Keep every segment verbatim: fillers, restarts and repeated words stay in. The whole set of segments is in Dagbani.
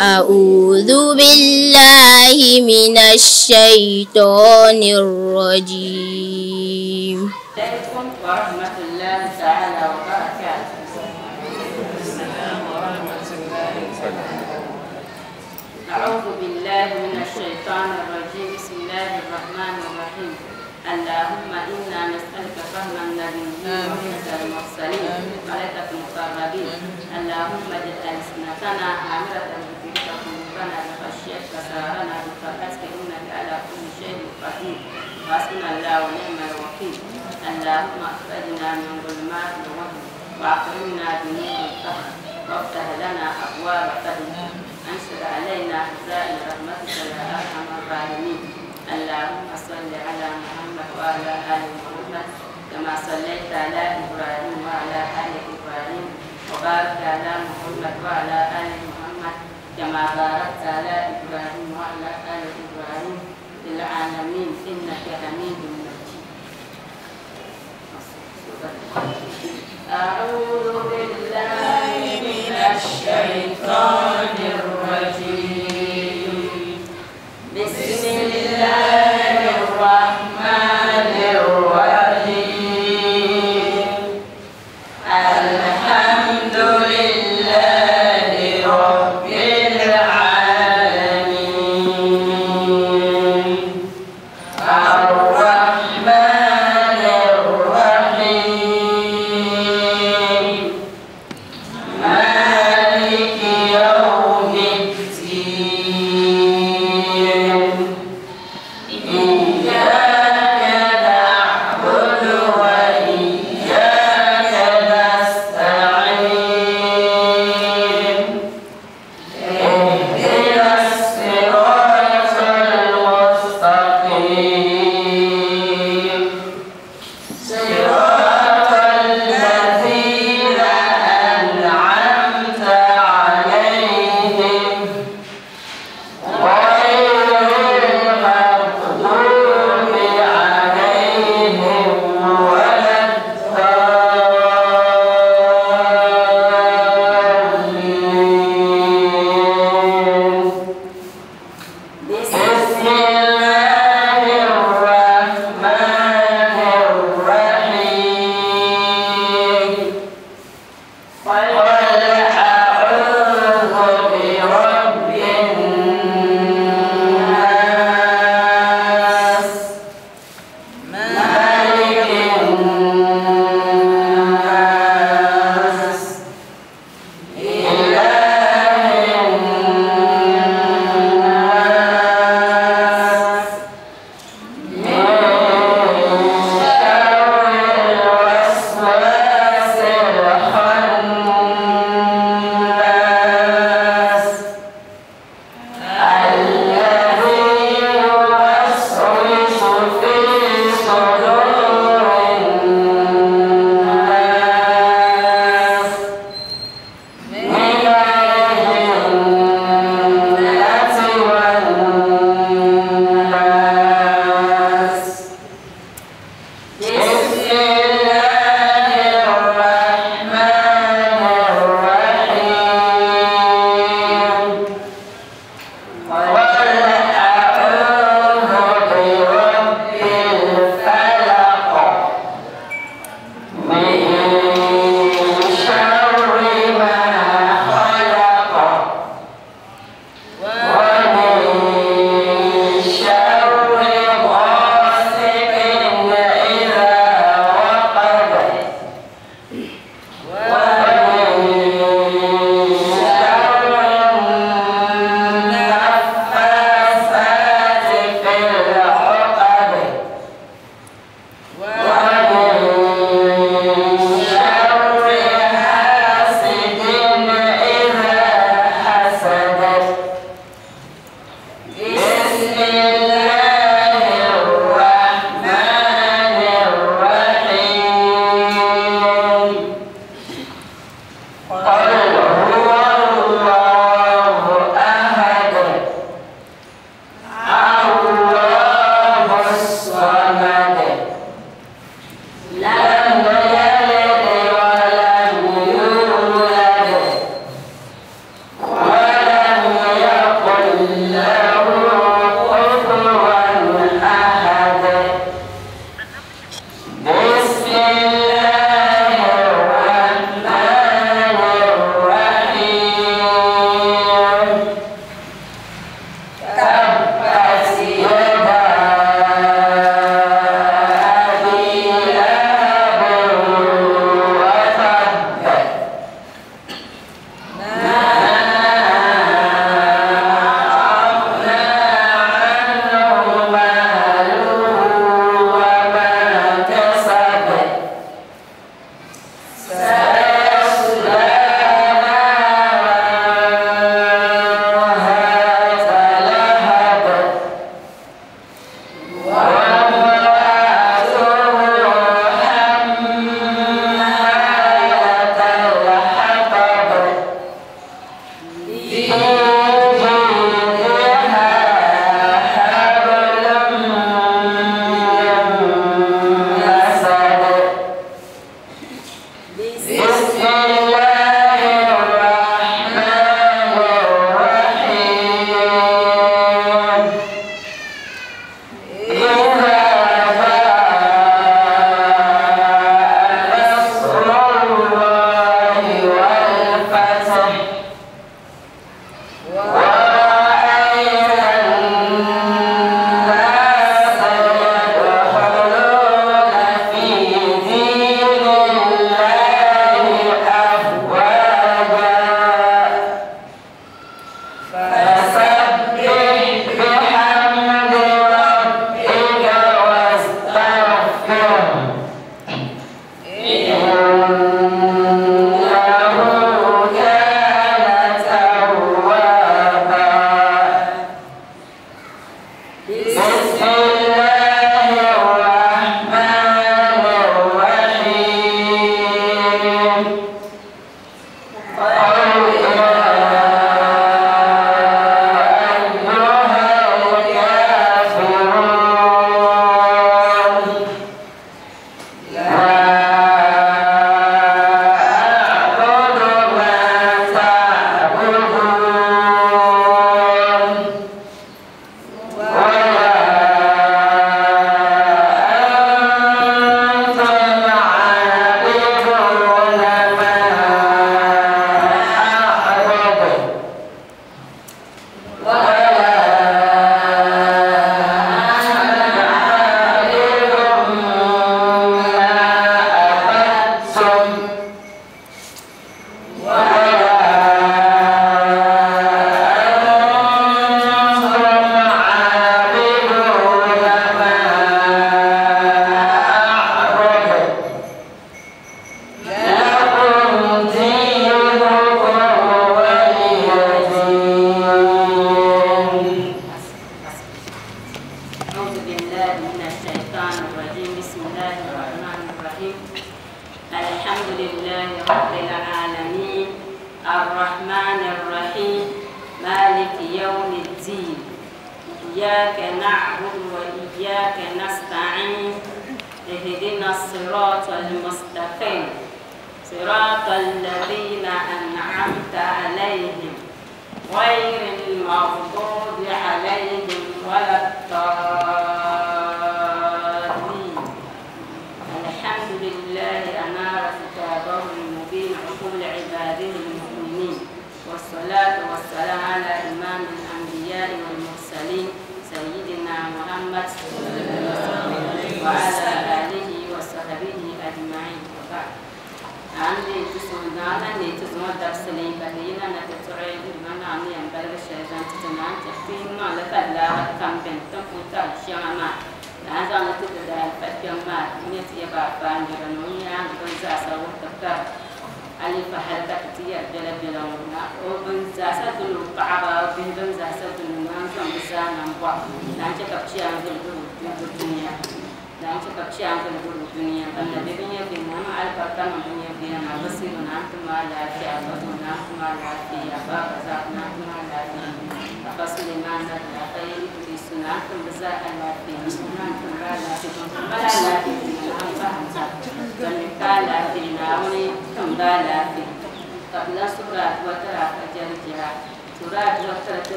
أعوذ بالله من الشيطان الرجيم. عليكم ورحمة الله تعالى وبركاته. أعوذ بالله من الشيطان الرجيم. بسم الله الرحمن الرحيم. اللهم إنا نسألك فهم النبيين وحفظ المرسلين وملائكة المقربين. اللهم اجعل ألسنتنا عامرة بذكرك، قلوبنا بخشيتك، سرارنا بطاعتك، إنك على كل شيء قدير. وحسبنا الله ونعم الوكيل. اللهم أخرجنا من ظلمات الوهم وأكرمنا بنور الفهم وافتح لنا أبواب فضلك، أنشر علينا خزائن رحمتك يا أرحم الراحمين. اللهم صل على محمد وعلى آل محمد كما صليت على إبراهيم وعلى آل إبراهيم، وبارك على محمد وعلى آل محمد كما باركت على إبراهيم وعلى آل إبراهيم في العالمين إنك حميد مجيد. أعوذ بالله من الشيطان الرجيم. بسم الله الرحمن الرحيم. الحمد لله رب العالمين. الرحمن الرحيم. مالك يوم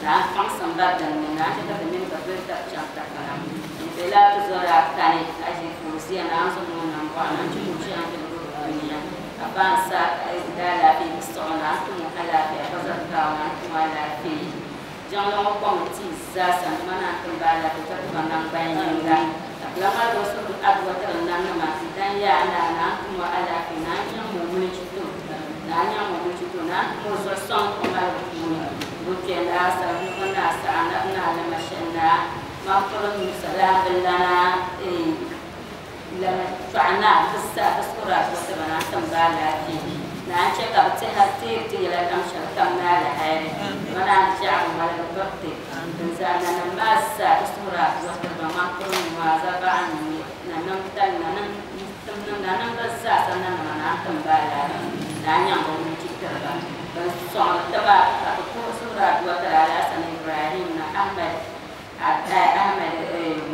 Na kpaŋsim ba dinni na chɛ ka ti mini ba doli tabi chaŋ takara. N-bela ti zɔri a kani a ʒi Fauziya na n zaŋ o nambɔɣu na n-chɛ ka o chɛ a dunia. Ka ba n sa daalaafee bi siɣi na n-tum o alaafee ka zaŋ kawo na n-tum o alaafee. Jiŋli ŋɔ kɔŋ tii zaa sa nima na n-tim ba alaafee ka ti ba nangbani yinga. Ka ti lahi ŋmaligi o suhuri aduwa tiri nanima n-dan yaa naa na n-tum o alaafee na n-nyaŋ o mulichi to na n-nyaŋ o mulichi to na n-tum o zuɣu sɔŋ o malibu puuni. Bukɛ naa Savelugu naa Saɣanabi naa Lamashɛli naa Mampuru Musa Laabililana Tɔɣu naa bi zaa bi suhuri aduwa tiri ba na n-tim ba alaafee. Na n-chɛ ka bɛ tɛha teeri ti yɛla kam shɛli kam ni alahayiri. Ba naan jaɣi ŋmaligi biriti. Din zaa nanim maa zaa bi suhuri aduwa tiri ba Mampuru Nua Zabaɣa nanim tali nanim nanim ba zaa sa nanima na n-tim ba alaafee. Na n-nyaŋ ba mulichi tiri ba. Ban sɔŋdi tiba ka bɛ puhi suhuri aduwa tiri Alhassan Ibrahim na Ahmed Ahmed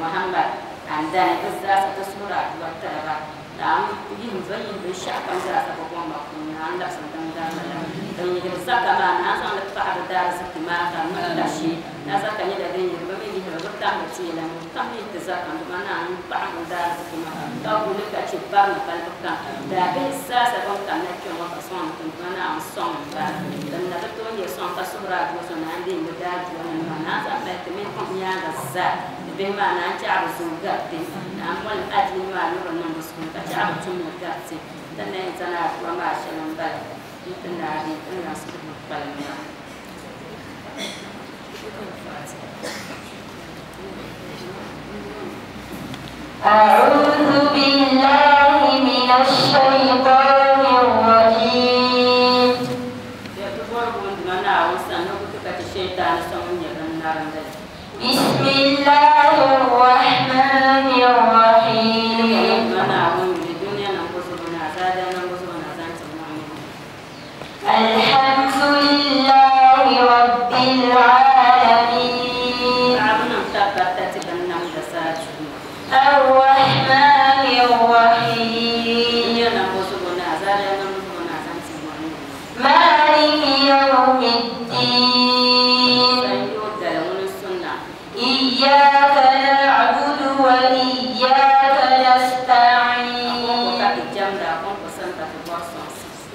Muhammad Andani bɛ zaa sa ti suhuri aduwa tiri ba. Na n yihim ba yihi binshɛɣu kam zaa sa bɛ gomma puuni na n labisi tiŋgbani la. Din yihiri zaka maa na n zaŋ li paɣi bɛ daariziki maa ka di niŋ kashi. Na zaka nyɛla din yihiri bɛ mi yihiri bɛ tamdi ti yɛla ni kam yi ti zaka n-duma na n paɣi bɛ daariziki maa ka guli ka chɛ barina balibu kam. Daabihi zaa sa bɛn kanna kpe ŋɔ ka sɔŋ tiŋgbani na n sɔŋ ba. Din na bi tooi nyɛ sɔŋ ka suhuri aduwa so na n deei bɛ daadua nima maa na n zaŋ mali ti mini kom nyaaŋa zaa. Bihi maa na n chaɣi bɛ zooi gariti na n moli adiini maa ni bɛ niŋ bɛ suhu ka chaɣi bɛ tumli gariti. Ti na yɛn zani aduwa maa shɛli m-bala n-ti naagi n niŋ suhu kpalim maa. أعوذ بالله من الشيطان الرجيم. بسم الله الرحمن الرحيم. الحمد لله رب العالمين. الرحمن الرحيم. مالك يوم الدين. إياك نعبد وإياك نستعين.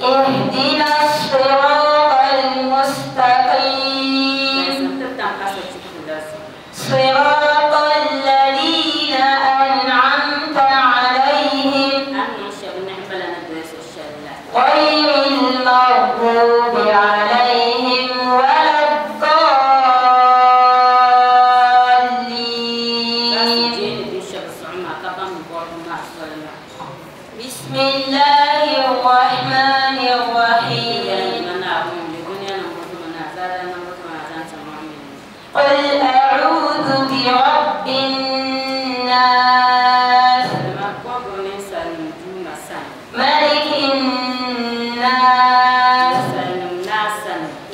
اهدنا الصراط المستقيم. صراط الذين أنعمت عليهم غير المغضوب عليهم ولا الضالين. بسم الله الرحمن الرحيم. قل أعوذ برب الناس ملك الناس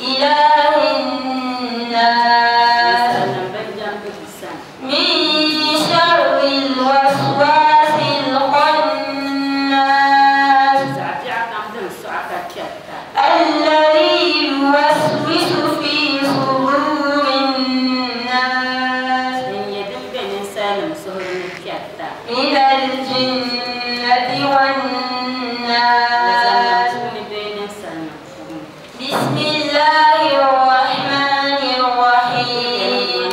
إله الناس من شر الوسواس الخناس الذي يوسوس في صدور الناس من الجنة والناس. بسم الله الرحمن الرحيم.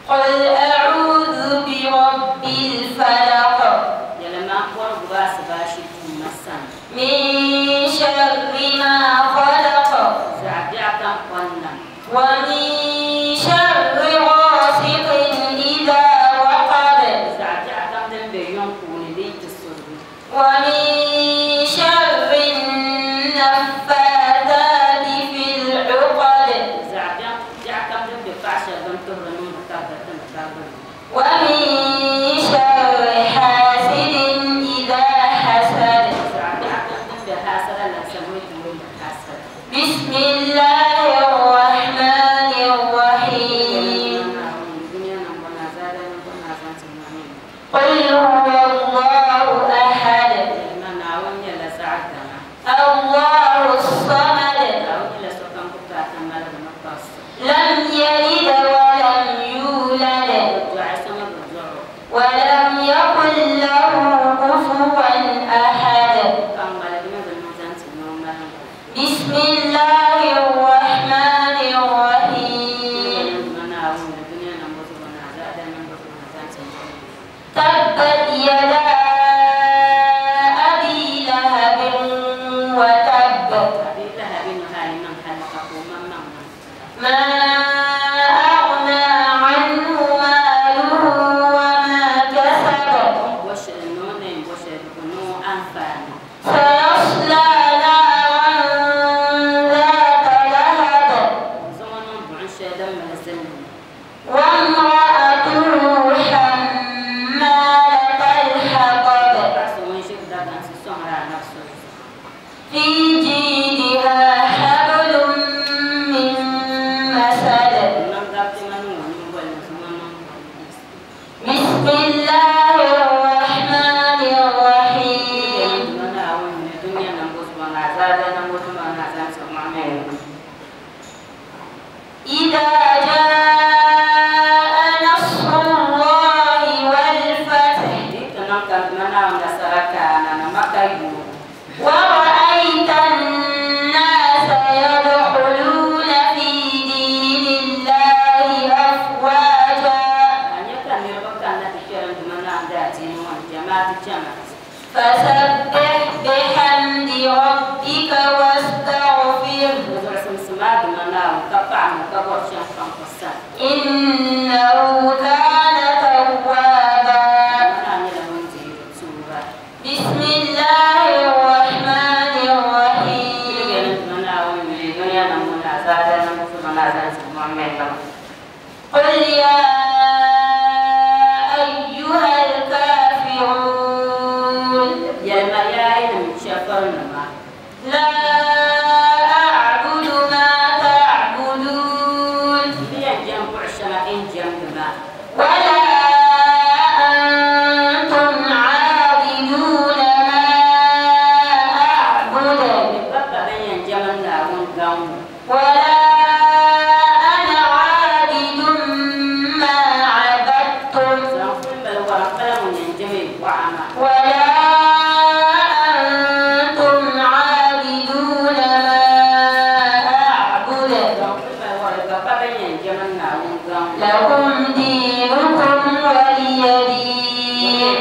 قل أعوذ برب الفلق من شر ما خلق ومن شر غاسق إذا وقب ومن شر النفاثات في العقد ومن شر حاسد إذا حسد. بسم الله الرحمن الرحيم. قل هو الله أحد الله الصمد ما أغنى عنه ماله وما كسب. سيصلى نارا ذات لهب. وامرأته حمالة الحطب. في جيدها حبل من مسد. بسم الله الرحمن الرحيم. إذا جاء نصر الله والفتح. ورأيت الناس يدخلون في دين الله أفواجا. فسبح بحمد ربك واستغفره. إنه كان توابا. بسم الله الرحمن الرحيم. قل يا أيها الكافرون. لا أعبد ما تعبدون. ولا أنتم عابدون ما أعبد. ولا أنا عابد ما عبدتم. ولا أنتم عابدون ما أعبد. لكم دينكم ولي دين.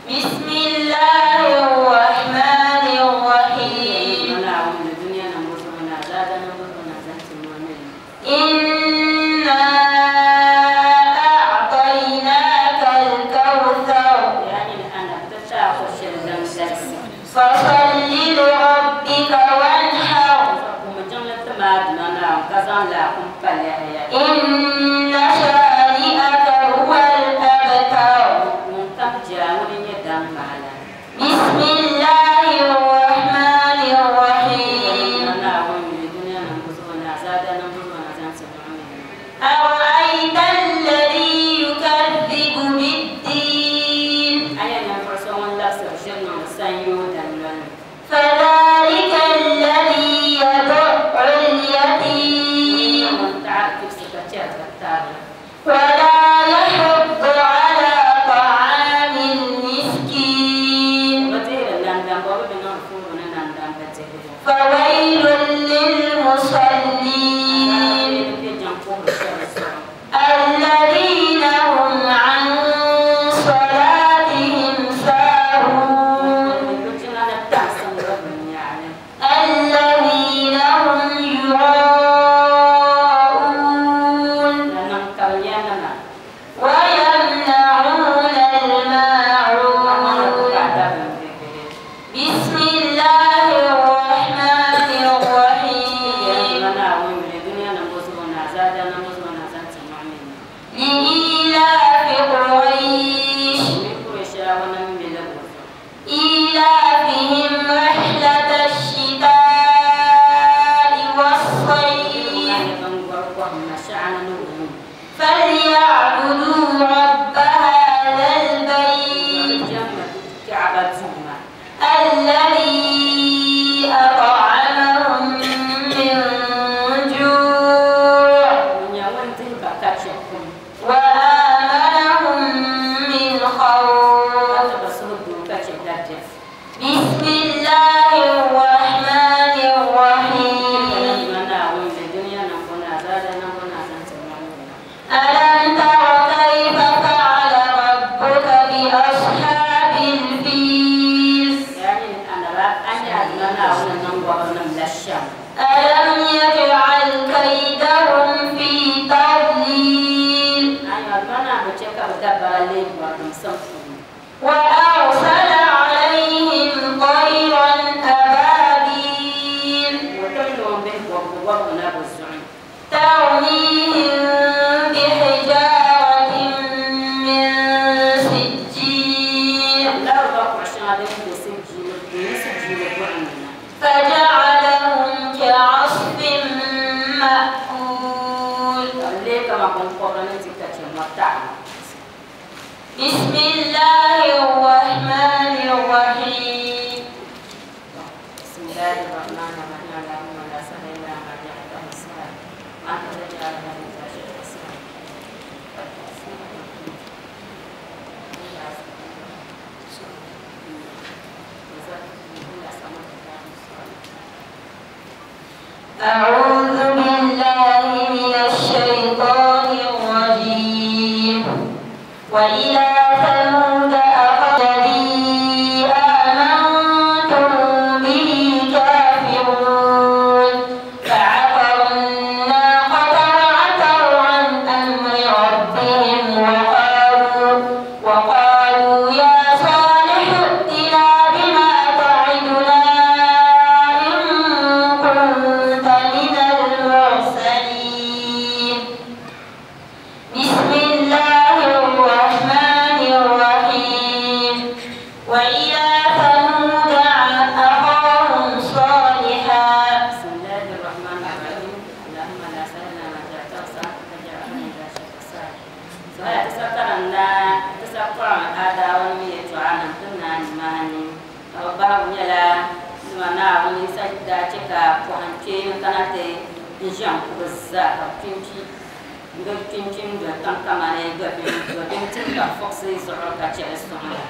بسم الله الرحمن الرحيم. إنا أعطيناك الكوثر. فصل لربك وانحر. إن شانئك هو الأبتر. بسم الله الرحمن الرحيم. أرأيت الذي يكذب بالدين. فذلك الذي يدع اليتيم. ولا يحض على طعام المسكين. فويل للمصلين. الذين هم عن صلاتهم ساهون. الذين هم يراءون. ويمنعون الماعون. بسم الله الرحمن الرحيم. shɛm. ألم يجعل كيدهم في تضليل Ayiwa mana bɛ chɛ ka bɛ dabara leei bɔrigimsim puuni. وأرسل عليهم طيرا أبابيل O tim noombihi bɔbigu bɔbigu na bɛ zuɣu. ترميهم بحجارة من سجيل Lari ba kuɣu shɛŋa din be sijiili ni sijiili buɣim ni na. فجعلهم كعصف مأكول Ka bɛ leei kaman biŋkɔbiri ni di ka chɛ mɔtaɣu. بسم الله الرحمن الرحيم بسم الله الرحمن الرحيم اللهم لا سهل إلا ما جعلته سهلا وأنت تجعل إذا شئت سهلا. أعوذ بالله من الشيطان الرجيم وإلى ثمود أخاهم الذي آمنتم به كافرون فعقروا الناقة وعتوا عن أمر ربهم وقالوا وقالوا يا صالح ائتنا بما تعدنا إن كنت من المرسلين بسم الله الرحمن الرحيم وإلى ثمود أخاهم صالحا بسم الله الرحمن الرحيم اللهم لا سهل إلا ما جعلته سهلا وتجعل إذا شئت سهلا. Sɔhaya ti sa karinda ti sa kɔɣa adawa ni yɛltɔɣa nim ti naani maani ka bi bahigu nyɛla nima Naawuni sa daa chɛ ka pɔhim kpee kana ti n ʒɛn kubi zaa ka bi kpinpi bi kpinpi n doli tiŋ kamani dobim tim ka fuɣusi zuɣu ka chɛ li sɔŋ la.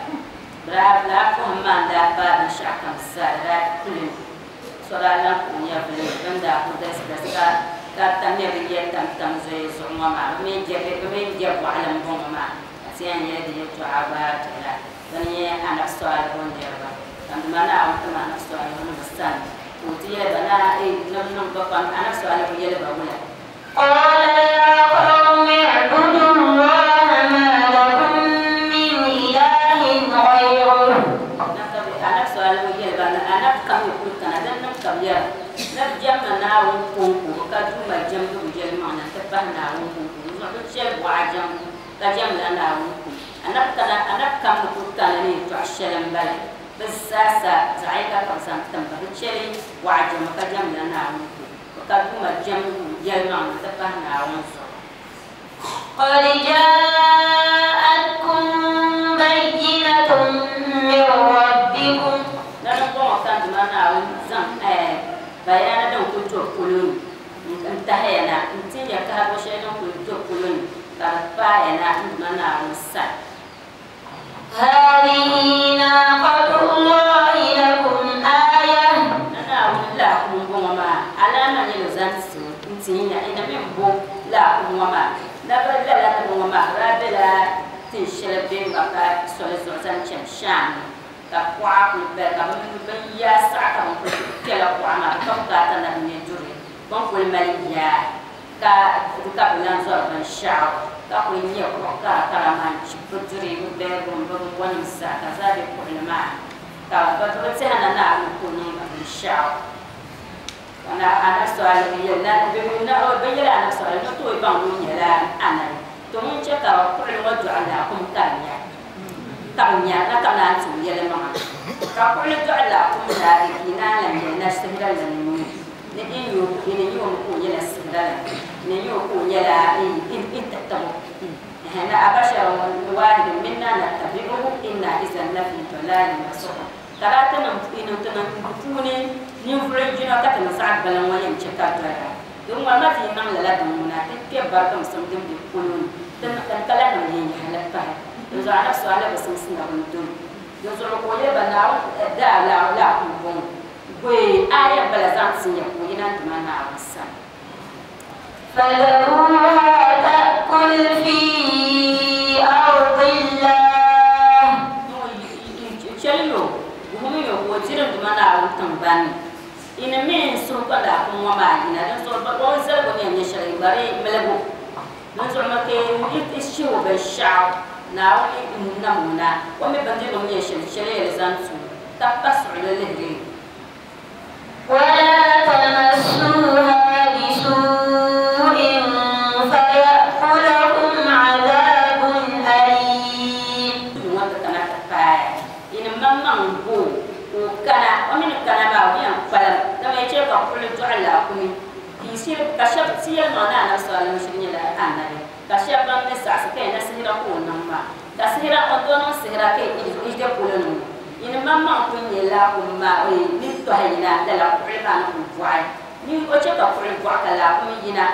Bi daa lala pɔhim maa n daa paai binshɛɣu kam zaa di daa kuli so daa lan ku nyɛvili bin daa ku galisi galisi ka ka tamya bi yɛ tam tam zoya zuɣu ŋɔ maa bi mini jɛ bi mini jɛ bɔɣili n bɔŋɔ maa ka ti yɛn nyɛ di yɛltɔɣa gba tila bini nyɛ anabi sɔlihu niriba ka nima Naawuni tim anabi sɔlihu ni bi sani ka o ti yɛli ba na nim niŋ ba pam anabi sɔlihu yɛli ba wula. قال يا قوم اعبدوا الله ما لكم من إله غيره Anabi sɔlihu yɛli ba anabi kam yi kuli kana din niŋ ka bi yɛra nabi jɛmma Naawuni kɔŋko ka duuma jɛmbu bi yɛlimaŋli nti pahi Naawuni kɔŋko di zuɣu bi chɛli bɔɣa jɛmbu ka jɛmla Naawuni kɔŋko anabi kana anabi kam ni kuli kana ni yɛltɔɣa shɛli n bala bi zaasa zaɣ yinga ka bi zaŋ tim ba bi chɛli bɔɣa jɛmbu ka jɛmla Naawuni kɔŋko ka duuma jɛmbu yɛlimaŋli nti pahi Naawuni zuɣu. قد جاءتكم بينة من ربكم Lala bɔŋɔ ka Duuma Naawuni zaŋ bayana din kuli do polo ni n tahiya na n tin ya kahigu shɛli din kuli do polo ni ka di paaya na n Duuma Naawuni sani. هذه ناقة الله لكم آية Na Naawuni laakum bɔŋɔ maa alama nyɛla o zaŋ ti n tin ya ina mi bo laakum ŋɔ maa na bi lala nima ŋɔ maa bi daa bela tin shɛli bɛ Maka soli zuɣu zaŋ chani Sham ka kuɣa kuli bala ka bin yaa saɣa ka bin kuli kpɛla kuɣa maa ka bukaata na bi nyɛ duri bin kuli mali yaa ka ka bi lan zɔri binshaɣu ka kuli nyɛ kuɣu kara kara maa n chibi bi duri bi bedroom bi binbɔnim zaa ka zaa bɛ kuɣuli maa ka bi bi tɛha na Naawuni ku niŋ ba binshaɣu ka na anabi sɔlihu yɛli na bi yɛli anabi sɔlihu ni tooi baŋ ŋun nyɛla anabi to ŋun chɛ ka kuɣuli ŋɔ dɔɣi laakum ka di nya ka bi nya na ka naan ti yɛlimaŋa ka kuɣuli dɔɣi laakum naagi ka yi naan lan yɛli na sihira la ni nuu ni in yo ni yo ko nyɛla sihira la ni yo ko nyɛla in tatabo na abashar wahidin minna nattabi'uhu inna izan lafi dalalin wa su'ur ka daa ti niŋ ti niŋ puuni ninvuɣu yino ka ti niŋ zaɣ gbaliŋ ŋɔ yɛn chɛ ka doya din ŋɔ ma ti yi niŋ lala din ŋuna ti kpɛ barigimsim din be polo ni ti ka lahi niŋ yɛnyahali pahi din zuɣu anabi sɔlihu bi simsi na bin doli din zuɣu ka o yɛli ba Naawuni daa laakum bɔŋɔ goyi aya bala zaŋ ti nya ka o yina n Duuma Naawuni sani. فذروها تأكل في أرض الله Chɛli yo guhumi yo ka o diri n Duuma Naawuni tiŋgbani ni. Ina min suhu ka laakum ŋɔ maa yina din zuɣu o ni zaligu ni yɛn nyɛ shɛli gbari miligu din zuɣu mi ka i shihi binshaɣu Naawuni n nam o na o mi bindirigu ni nyɛ shɛli shɛli yɛli zaŋ tu ka pa suɣuli lihiri. ولا تمسوها بسوء فيأخذكم عذاب أليم. Ŋɔ ti kana ti paaya ina maŋmaŋ bo ka o kana o mi ni kana maa o yɛn kpalim dama ya chɛ ka kuɣuli dɔɣi laakumi ka shɛba ti yɛlimaŋ ni Anabi sallallahu alaihi wasallam nyɛla anabi ka shɛba ban mi saɣisi ka yɛn na sihira ka o niŋ maa ka sihira o too niŋ sihira ka i de polo ni ŋɔ ina maŋmaŋ ku nyɛ laakum maa ni tɔhi yina lala kuɣuli maa ni kuli bɔɣi ni o chɛ ka kuɣuli bɔɣi ka laakum yina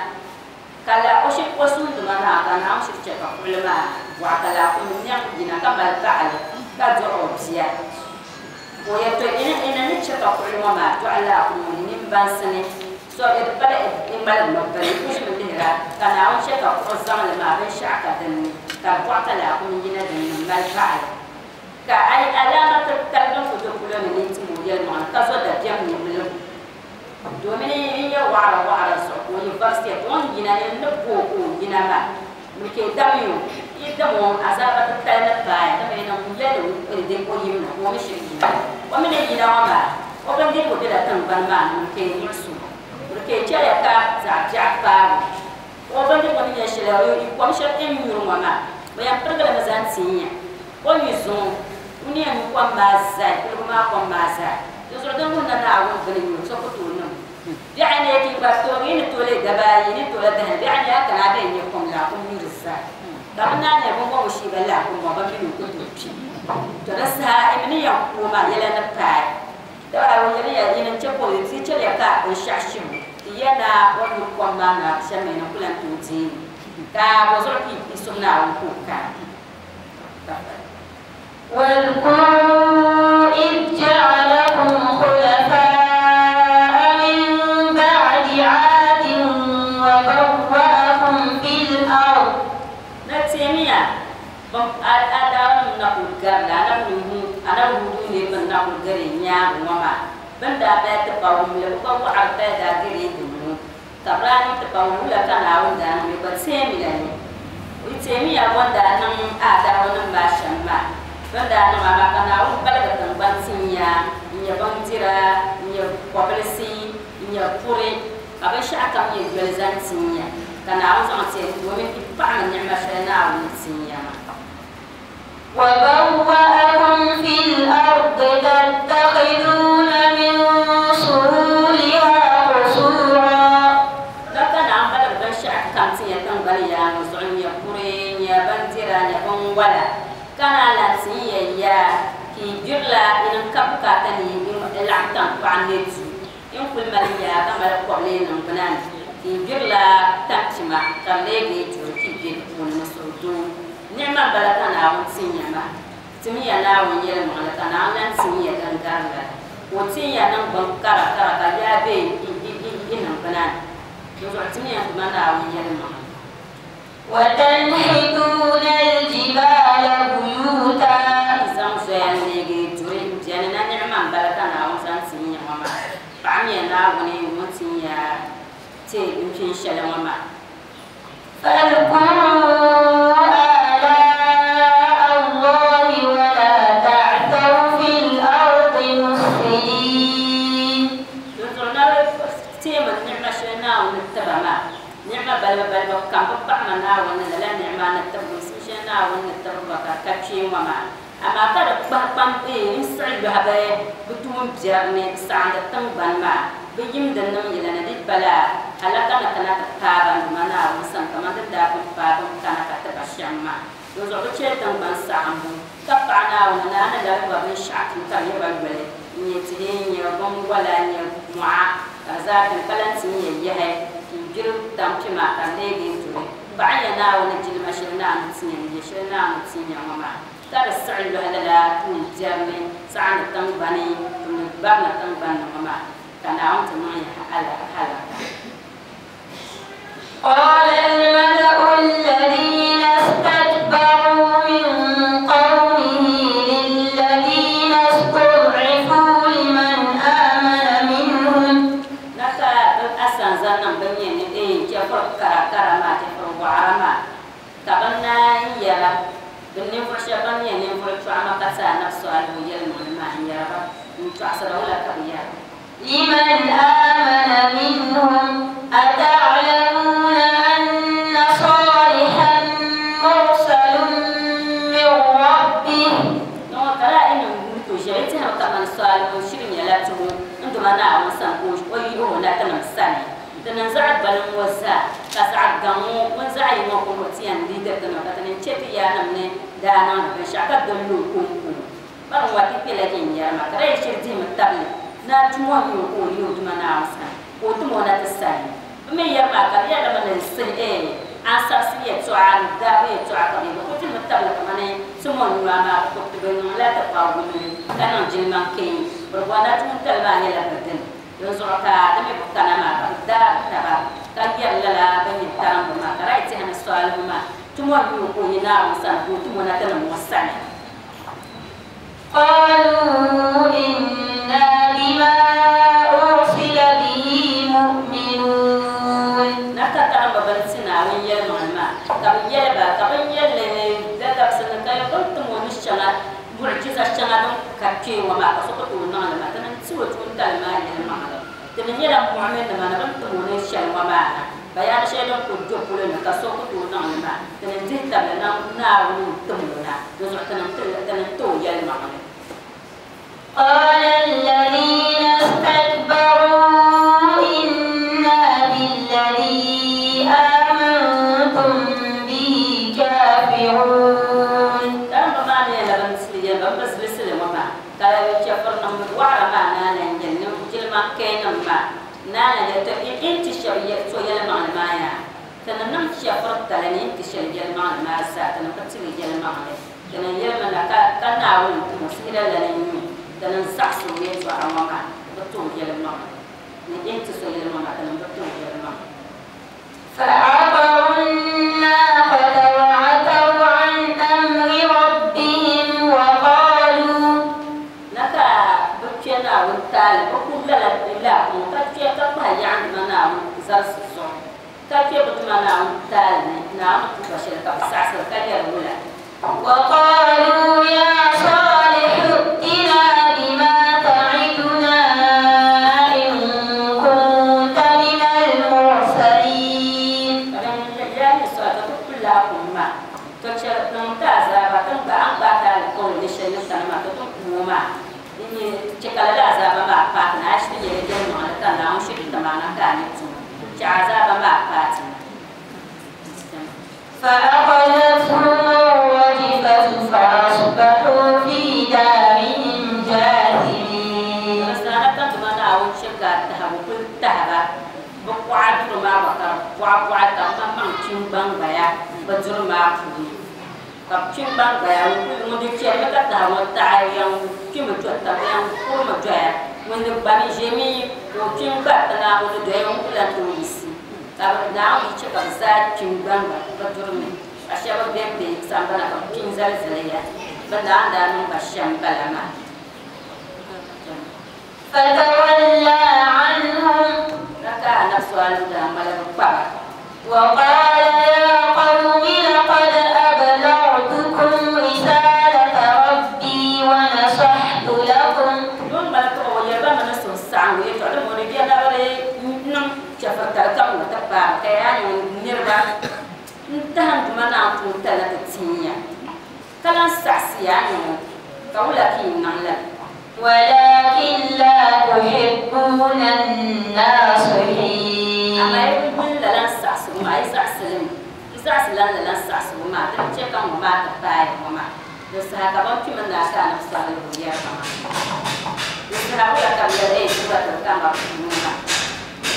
ka la o shiri o suunduma maa ka Naawuni shiri chɛ ka kuɣuli maa bɔɣi ka laakum nɛŋ yina ka mali baɣali ka dɔɣi o bia o yɛ to ina ina ni chɛ ka kuɣuli ŋɔ maa dɔɣi laakum ŋɔ ni nimbansi ni so di pala i ŋmaligi mi bini ku ʒimi lihira ka Naawuni chɛ ka kuɣu zaŋli maa binshaɣu ka dinni ka bɔɣi ka laakum yina dinni m mali baɣali ka ai alama titali din ku do polo ni ni tim o yɛlimaŋli ka zo dabiɛm ni miligu domin n nyɛ waɣara waɣara zuɣu ka o yi varisiya o ni yina ni ni booi ka o yina maa mi ke dami o i dam o azaaba titali ni paaya dama ina ŋun yɛli de o yim na ka o mi shiri yina o mi ni yina ŋɔ maa o bindirigu bela tiŋgbani maa ni mi ke muɣusu mi ke chɛliya ka zaɣ biɛɣu paabu o bindirigu ni nyɛ shɛli kom shɛli n nyuri ŋɔ maa o yɛn pirigili mi zaŋ ti nya o mi zuŋɔ ŋuni yɛn nyu kom maa zali kuligu maa kom maa zali di zuɣu din wuhi na Naawuni bini nyu so ku tooi niŋ biɛɣu ni ki gba toogi ni toole dabaa ayi ni toole dahi biɛɣu ni a kana a bɛ nyɛ kom laakum nyuri zali ka bi naan nyɛ bin ŋɔ shii ba laakum ŋɔ ba mini ku tooi kpi to di saha mi ni yɛn kuo maa yɛla ni paai daba o yɛli ya yini n chɛ ka o ti chɛliya ka binshaɣu shibu ti yɛ na o nyu kom maa na shɛm mi ni ku lan tooi deei ka bɔ zuɣu ki i sum Naawuni ka o kana. واذكروا إذ جعلكم خلفاء من بعد عاد وبوأكم في الأرض. Na teemiya adawa na kuli garila anabi Nuhu anabi Hudu ne bin na kuli gari nyaangi ŋɔ maa bin daa paya ti pa wumli bi ka waɣari paya daa gari dinni ka bi daa niŋ ti pa wumli wula ka Naawuni daa niŋ gba teemila ni i teemiya bon daa niŋ adawa nim maa shɛm maa bin daa niŋ maa ka Naawuni baligi tingbani tinya n nyɛ bindira n nyɛ kɔbilisi n nyɛ puri ka binshaɣu kam nyɛ yoli zaŋ tinya ka Naawuni zaŋ ti domin i paɣami niɛma shɛli Naawuni tinya maa. وبوأكم في الأرض تتخذون من سهولها قصورا. Ka Naawuni baligi binshaɣu kam tinya tingbani yaa ŋɔ zuɣu n nyɛ puri n nyɛ bindira n nyɛ binwala ka naan lan ti n yɛn yaa ka i gbirila inin ka bukaata ni i laɣim tankpaɣu ne du n kuli mali yaa ka mali kɔbili niŋ bina ni ka i gbirila tampima ka di leegi duri ka i be di puuni ni suhudoo niɛma n bala ka Naawuni tin ya maa timiya Naawuni yɛlimaŋli ka Naawuni lan tin ya din gari lala ka o tin ya niŋgbun kara kara ka yaa be i niŋ bina ni di zuɣu timiya tuma Naawuni yɛlimaŋli. وتنحتون الجبال بيوتا. Zaŋ zoya n leegi duri biɛni na niɛma n bala ka Naawuni zaŋ tin ya ŋɔ maa paɣamiya Naawuni ŋun tin ya ti n pin shɛli ŋɔ maa. فاذكروا آلاء الله ولا تعثوا في الأرض مفسدين. Din zuɣu na teemi niɛma shɛli Naawuni ni tiba maa niɛma balibu balibu kam bi paɣama Naawuni ni lala niɛma ni tibi shɛli Naawuni ni tibi ba ka ka kpee ŋɔ maa amaa ka di kpahi kpam n siɣi lɔhi bi bi tuun biɛri ni saɣandi tingbani maa bi yimdi niŋ yɛla ni di pala alaka ni kana ti paai ba duma Naawuni sani kamani di daa pun paai bin kana ka ti ba shɛm maa di zuɣu bi chɛli tingbani saɣambu ka paɣa Naawuni ni a ni labi ba binshaɣu tum ka di nyɛ ba yoli n nyɛ tihi n nyɛ binwala n nyɛ mɔɣa ka di zaa bini ka lan ti nyɛ yahi n gbiri tampima ka di leegi duri paɣa nyɛ Naawuni jilima shɛli Naawuni tinya ni nyɛ shɛli Naawuni tinya ŋɔ maa ka di siɣi lɔhi lala tuun biɛri ni saɣandi tingbani tumdi barina tingbani ni ŋɔ maa ka Naawuni ti niŋ ya halaka. قال الملأ الذين استكبروا من قومه للذين استضعفوا لمن آمن منهم Tanzania bɛ nyɛ ni ee chɛfuri kara kara maa chɛfuri waɣara maa ka bɛ naan yɛra bɛ ninvuɣu shɛba ban nyɛ ninvuɣu chɔɣima ka ti Anabi Salihu yɛlimaŋli maa n yɛra ba n tɔɣisira wula ka bɛ yɛra. لمن آمن منهم أتعلمون أن صالحا مرسل من ربه Nɔŋɔ kala ina n to shɛli ti hali kaman Salihu shiri nyɛla tuhu n duma Naawuni sani ka o yi o na ti niŋ sani ti niŋ zaɣ gbaliŋ ŋɔ zaa ka zaɣ gaŋ ŋɔ ŋun zaɣ yi ŋɔ ka o ti yɛn liigiri ti niŋ ka ti niŋ chɛ ti yaanima ni daa niŋdi binshɛɣu ka doli o konko bari n wa ti kpɛla viɛnyɛla maa ka di yi shiri dihimi tabili na tumo n nyɛ ka o yi o duma Naawuni sani ka o tim o na ti sani bɛ mi yɛri maa ka di yɛla mi ni sihi ee ansarisi yɛltɔɣa ni daabu yɛltɔɣa ka bɛ ku timi tabili kamani tumo n nyɔa maa ku ti bi niŋla ti kpaguli ka niŋ jilima keen bi bɔri na tuuntali maa nyɛla bi dini din zuɣu ka di mi bi kana maa ka bi daa taba ka yɛri lala bin nyɛ tarimbu maa ka di yi tihi ni Salihu maa tumo n nyɛ ka o yi Naawuni sani ka o tim o na ti niŋ o sani. قالوا إنا بما أرسل به مؤمنون na ka tarimba bin ti Naawuni yɛlimaŋli maa ka bi yɛli ba ka bin yɛli dadabsi ni ka bin tim o ni shɛŋa mu'jiza shɛŋa din ka kpee ŋɔ maa ka so ku tooi niŋli maa ti niŋ ti o tuuntali maa yɛlimaŋli ti ni nyɛla mu'min nima ni bin tim o ni shɛli ŋɔ maa na bayani shɛli din ku do polo ni ka so ku tooi niŋli maa ti niŋ dihi tabili na Naawuni n tim o na di zuɣu ti niŋ ti niŋ ti o yɛlimaŋli. قال الذين استكبروا إنا بالذي آمنتم به كافرون Tarimba maa ni nyɛla bin tili yɛli ba bi zilisili ŋɔ maa ka chɛfuri nim waɣara maa naana n yɛli ni jilima keenim maa naana yɛli to in ti shɛba yɛ so yɛlimaŋli maa yaa ti ni niŋ chɛfuri tali ni in ti shɛli yɛlimaŋli maa zaa ti ni bi tili yɛlimaŋli ti ni yɛlimi na ka ka Naawuni tumo sihira lana n nyɛ ti ni zaɣisi o yɛltɔɣa ŋɔ maa bi ti o yɛlimaŋli ni in ti so yɛlimaŋli maa ti ni bi ti o yɛlimaŋli. فعقروا الناقة وعتوا عن أمر ربهم وقالوا Na ka bi kpɛ Naawuni taali bi ku lala laakum ka kpɛ ka kpahi yaɣandima Naawuni zarisi zuɣu ka kpɛ bi duma Naawuni taali ni Naawuni tuba shɛli ka bi saɣasiri ka yɛri wula. وقالوا يا صالح ائتنا بما تعدنا إن كنت من المرسلين Ka din yaa ni sɔli ka ti ku laakum maa to chɛri niŋ ti azaaba ti gba an gba taali kɔŋ ni shɛli ni sani maa to ti ku o maa n nyɛ chɛ ka lala azaaba maa paati na a shiri nyɛla yɛlimaŋli ka Naawuni shiri timaana ka a ni tum chɛ azaaba maa paati na. فأخذتهم الرجفة فأصبحوا في دارهم جاثمين Sana ka duma Naawuni chɛ ka tahigu kuli tahiba bi kuɣa duri maa gba ka di buɣa buɣa ka bi maŋ kpim gbangbaya bi duri maa puuni ka bi kpim gbangbaya ŋun di chɛrimi ka tahi ŋɔ taɣi yan kpimi do taba yan kurimi doya ŋun di gbami ʒɛmi ka o kpim gba tiŋa ŋun di doya ŋun ku lan tooi yiɣisi ka bi Naawuni yi chɛ ka bi zaa kpim gbangba bi duri mi ka shɛba bɛ be sambana ka bi kpim zali zaliya bi Naawuni daa niŋ ba shɛm bala maa. فتولى عنهم Na ka Anabi Salihu daa ŋmaligi kpaba وقال يا قوم لقد أبلغتكم رسالة ربي ونصحت لكم Don ŋmaligi o yɛli ba mi ni suhusaɣingu yɛltɔɣa din bɔŋɔ bia nabiri niŋ chɛfuritali ka ŋɔ ti paai ka yaa nyɛ niriba n tahim duma Naawuni tuuntali na ti tinya ka lan saɣisi yaa nyɛ ŋɔ ka wula ka yi niŋ la. ولكن لا تحبون الناصحين Amaa yi bi yuli lala n saɣisigu maa yi saɣisili mi yi saɣisi lan lala n saɣisigu maa din chɛ ka ŋɔ maa ti paai ŋɔ maa di saha ka ban kpimi naa ka Anabi Salihu yɛri ba maa di saha wula ka bi yɛli ee ti gba ti bi kana puuni maa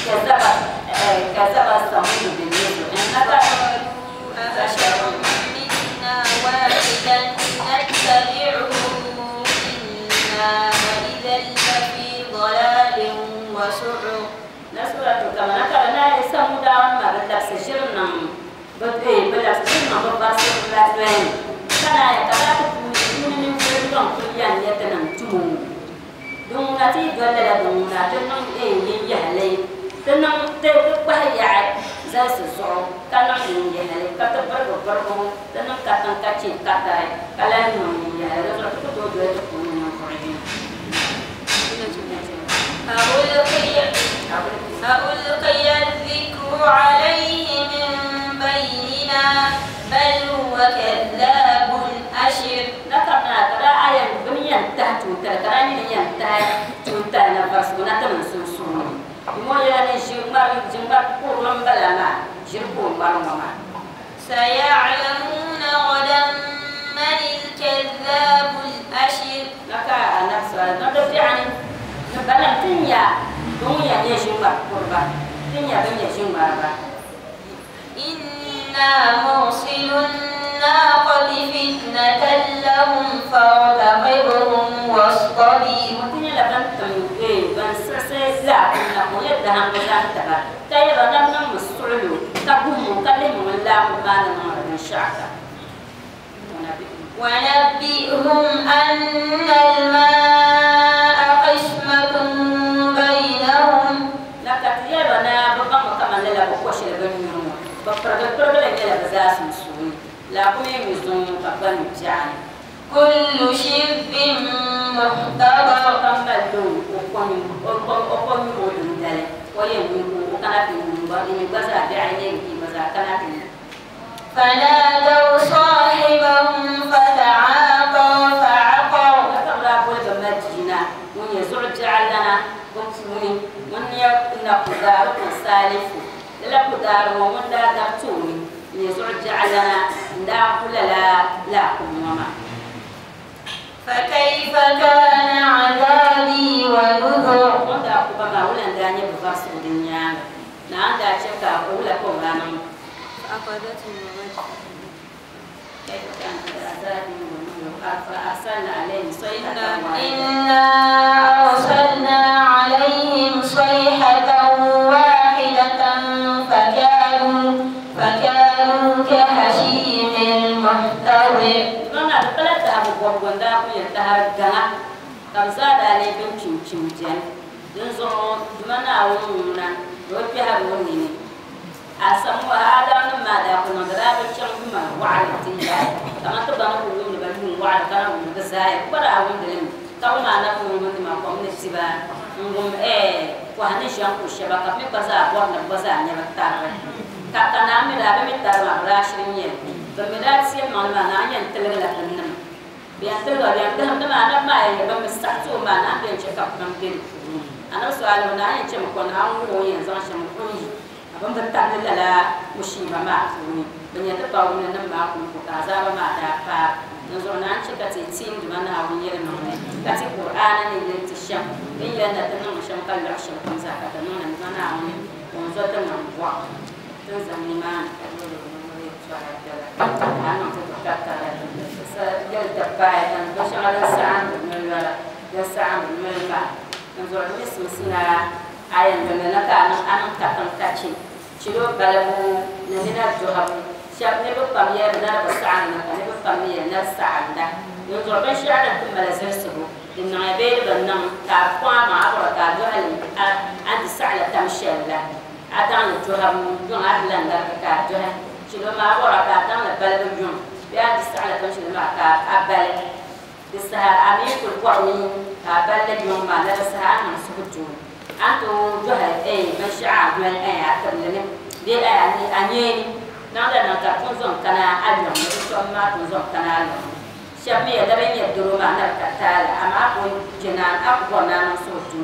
kazaba kazaba Samudu bin Nuzur innaka أبشر منا واحدا نتبعه إنا إذا لفي ضلال وسعر Na suratu kama na kala na ye Samudawan maa bi labisi ʒiri niŋ bi ee bi labisi ʒiri niŋ bi varisi la noya ni ka na ye ka daa ti puuni puuni ninvuɣu lɔŋ kuli yɛn nyɛ ti niŋ tumo din ŋuna ti yi doli lala din ŋuna ti niŋ ee yinyahili تنم تبقى يا زاس الزعو كلام يهلي كتبرك بركو تنم كتن كتشي كتاي كلام يهلي لازم تقول تقول ألقي ألقي الذكر عليه من بيننا بل هو كذاب أشر نكرنا ترى آية بنيان تحت ترى نيان تحت تنتهي نفسنا تمسوسون مويا نجمع جمع كورم بلاما جربوا مرمى سيعلمون غدا من الكذاب الأشر نكا نفس نبدأ يعني بلان تنيا دنيا نجمع كوربا تنيا دنيا جمع إنا مرسل الناقة فتنة لهم فارتقبهم واصطبر وتنيا لبن تمي بن سسلا لا يدهم بزانتبا تايرا نم مسعلو تقوم كلم من لا مبان من الشعب ونبئهم أن الماء قسمة بينهم لقد يرنا بقى كمان لا بقوش لبن بفرق فرق لا بزاس مسؤول لا قوم يزون قبل يعني كل شرب محتضر كملوا وقوم وقوم وقوم فنادوا صاحبهم فتعاطى فعقر فكيف كان عذابي ونذر فأخذتهم الرجفة كيف كان عذابي ونذر فأرسلنا عليهم صيحة إنا أرسلنا عليهم صيحة واحدة فكانوا فكانوا كهشيم المحتضر أسمو هذا ما ذا كنا ذا بيشم ما وعد تيجا كما تبغى نقول من بني وعد كنا من بزاي ولا أقول دلهم كم ما نقول من ما قام نسيبا نقوم إيه وهني شام كوشبا كم بزا بورنا بزا نبتار كأنا ملا بمتار ما راشريني بملا سيم ما ما نعين تلقى لكنم بيان تلقى بيان تهم ما أنا ما بمستعصو ما أنا بيان شكا كم تل أنا سؤال من أنا شم كون أنا وين زان شم كوني بم بتعمل لا مشيبة ما أخوني بني تباو من نما أخون كذا ما دافع نزورنا عن شيء كتير دمنا أخوني المعنى كتير قرآن اللي تشم إلا نتنا مشم كل عشم خمسة كتنا نمنا أخوني ونزورنا نبوا تنزل ما أنا تتكتر يلتبع بس على الساعة من الساعة من الماء نزور اسم سنا ayan da na ka nan an ka kan ka ci ciro balabu na nina johabu shab ne ba pam ya na ba sa'an na ne ba pam ya na sa'an da yanzu ban shi ala tun mala zirsu din na be ban nan ka kwa ma abra ka johal an di sa'ala tam shalla atan johabu don adlan da ka johal ciro ma abra ka tan la balabu jun ya di sa'ala tam shalla ma ka abal disaha ami kul qawmi abal jun ma la sa'a an sukutu أنتو جهل أي مشاع من أي أكمل دي أي أنيني نعم نتا كنزون كنا أليوم نتوم ما كنزون كنا أليوم شامي دبني يدرو ما نركتال أما أقول جنان أقوى نان صوتو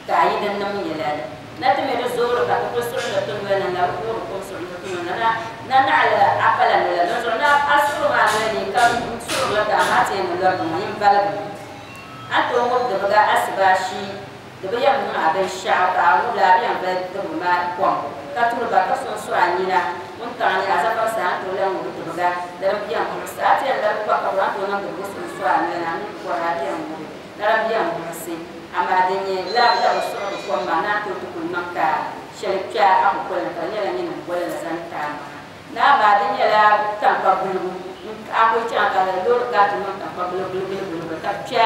كايد النم يلال نتمي رزور كتقول سرعة ولا نقول كم سرعة ولا ننعل أقل ولا نزرنا أسرع ما نني كم سرعة ما تين ولا ما ينبلغ أنتو مبدأ أسباشي دبي أم أبي الشعب أو لا أبي أم بدو ما قام كتور بقى سون سوانينا وانتعني أزفر سان تولا مبدو بقى دربي أم ساتي الله بقى قرآن تولا مبدو سون سوانينا ولا أبي أم دربي أم سي أما دنيا لا لا وصول قام ما ناتو تكون مكة شركة أو كل كلام يعني ولا زان تام نا بعدين لا تنقبلو a ku chaŋ ka loori gaa ti niŋ tankpaɣu bilibili ka bi kpɛ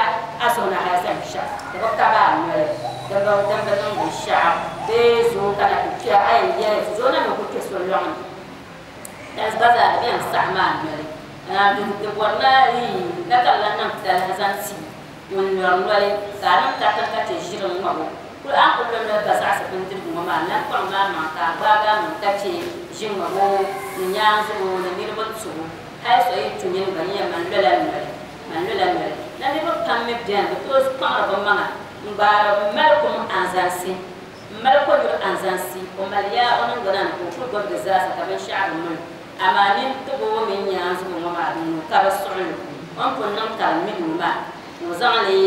a zuɣu ni hali zaŋ shɛɣu di bi kabi a noli din bi din bi niŋ binshaɣu bee zoo kana ti kpɛ a yɛn yɛli zoo na mi ku kpɛ so lɔŋni dan gba zaa di bɛn saɣam a noli di bɔri na na ka bi lahi niŋ talahi zaŋ ti ŋun lɔri noli ka a niŋ katiŋ ka chɛ ʒiri ŋmabo kuli a ku lɔ noli ka zaɣasi bindirigu ŋɔ maa lan kpaŋ maa maŋ ka a gbaagi a maŋ ka chɛ ʒi ŋmabo ni nyaanzugu ni niriba tubu hali so yi tu nyini gba nyɛ man lɔla noli man lɔla noli na niriba pam mi bɛni bi tooi kpaŋri bi maŋa n gbaari n mali kum anzansi n mali konyuri anzansi o mali yaa o niŋgbuna ni ka o kuli gbubi di zaasa ka binshaɣu bi mali amaa nini tibo mini nyaanzugu ŋɔ maa din ka bi suɣili o ni pun niŋ ka di mili o maa o zaŋli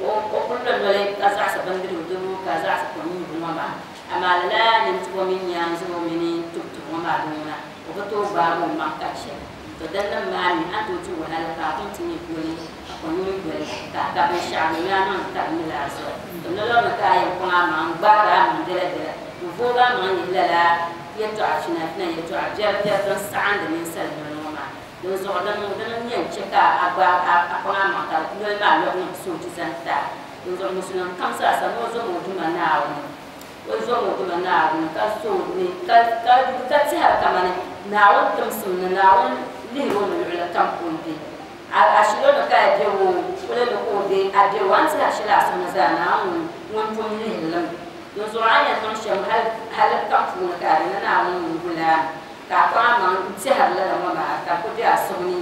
o kuli lo noli ka zaɣasi bindirigu dibu ka zaɣasi kom nyubu ŋɔ maa amaa lala nini tibo mini nyaanzugu mini tubitubu ŋɔ maa din ŋuna o bi tooi gbaagi o maŋ ka chɛ to din nim maa mi a tooi ti wahala ka a kum ti nyɛ goli ka konyuri goli ka ka binshaɣu mi a niŋ ka di mili a zuɣu to nolɔri ni ka a yɛn kpaŋ a maŋ n gbaari a maŋ biɛla biɛla n voogi a maŋ yihi lala yɛltɔɣa fina fina yɛltɔɣa biɛri biɛri din saɣandi ninsal noli ŋɔ maa din zuɣu din din yɛn chɛ ka a gba a kpaŋ a maŋ ka noli maa lɔbi niŋ soochi zaŋ ti a din zuɣu musulim kam zaasa ni o zom o duma Naawuni o zom o duma Naawuni ka so ni ka ka ka tɛhiri kamani Naawuni timsim ni Naawuni lihiri o ni luɣuli kam ka o be a shilɔni ka a be o kuli ni ka o be a be o a ni tɛhiri shɛli a suhu ni zaa Naawuni ŋun pun lihiri li mi din zuɣu a yɛn niŋ shɛm hali kam puuni ka a di ni Naawuni ŋun guli a ka a kpaŋ a maŋ n tɛhiri lala ŋɔ maa ka ku be a suhu ni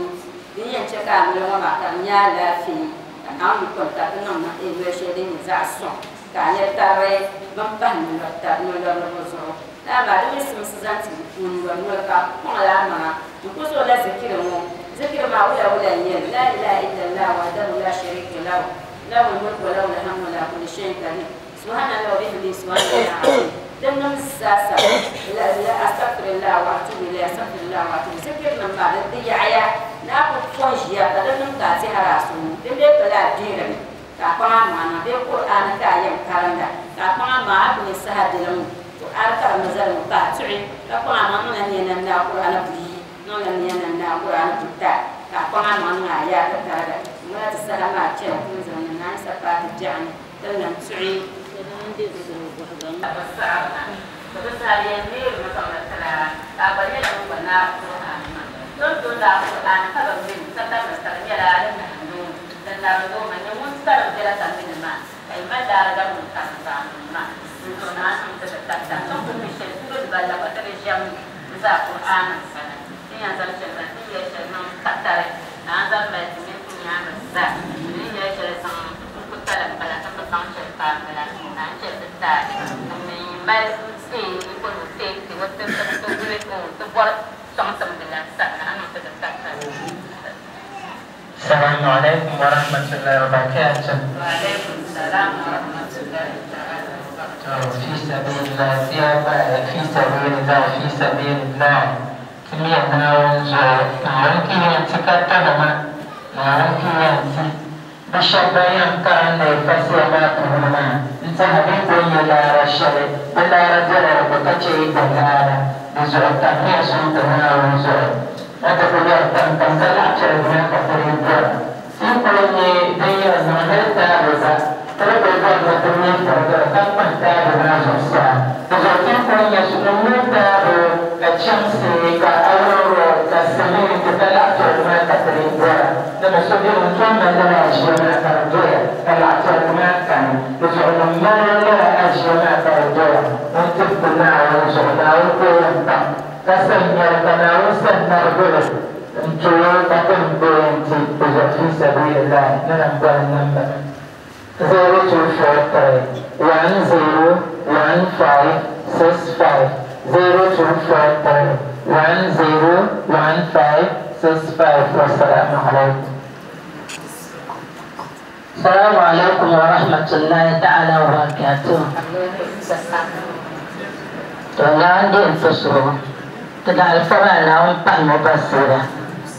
din yɛn chɛ ka a noli ŋɔ maa ka di nyɛ alaafee ka Naawuni yikɔni ka ti niŋ noli shɛli din nyɛ zaɣ suŋ ka a nyɛ tari bin pahi nolɔriba zuɣu amaa di mi simsi zaŋ ti ŋun lɔri noli ka kpaŋla a maŋa n ku zooi la zikiri ŋɔ zikiri maa wula wula n nyɛli la ilaha illallah wahdahu la sharika lahu lahu lmulku wa lahu lhamdu wa ala kulli shay'in qadir subhanallah wa bihamdihi subhanallah azim din niŋ zaasa la la astaghfirullah wa atubu ilayhi astaghfirullah wa atubu zikiri nim maa di di yaɣaya ni a ku pɔn ʒiya ka di niŋ ka a tɛhiri a suhu din bee pala a deerimi ka a kpaŋ a maŋa niŋ bee Qur'ani ka a yɛn karinda ka a kpaŋ a maŋa a ku nyɛ saha bilim to a di karimi zalimi ka a tuɣi ka kpaŋ a maŋ niŋla niya nan naa Qur'ani buyi niŋla niya nan naa Qur'ani buta ka a kpaŋ a maŋ niŋ a yaa ka tariga ŋuna ti saha maa chɛna ti ni zaŋ ni naan sa paati biɛɣuni ti lan tuɣi السلام عليكم ورحمة الله وبركاته. وعليكم السلام ورحمة الله تعالى وبركاته. في سبيل الله في سبيل الله في سبيل الله تمية ناونزو ناونكي ينتكتنما ناونكي ينتي بشبايان كان فسيما كهما انت حبيب يلا رشلي بلا رجل ربكتشي بلانا بزعو تمية سوت ناونزو أتقول تنتظر عشان تقريبا في كل دنيا زمان تابع ترى بقول مثلا كم تابع ناس إذا في كل يسمون تابع كشمس كأورو كسمين تطلع عشان تقريبا لما سوي مكان لا أشياء ترجع طلع عشان ما كان إذا ما لا أشياء ترجع أنت تطلع وشغلة وكل كسن يتناوسن نرجل انتو تكن بنتي في سبيل الله ننبه النمبر zero two four three one zero one five six five zero two four three one zero one five six five. والسلام عليكم. السلام عليكم ورحمة الله تعالى وبركاته. عندي انفسهم تدع الفرع لهم فهم بصيرة.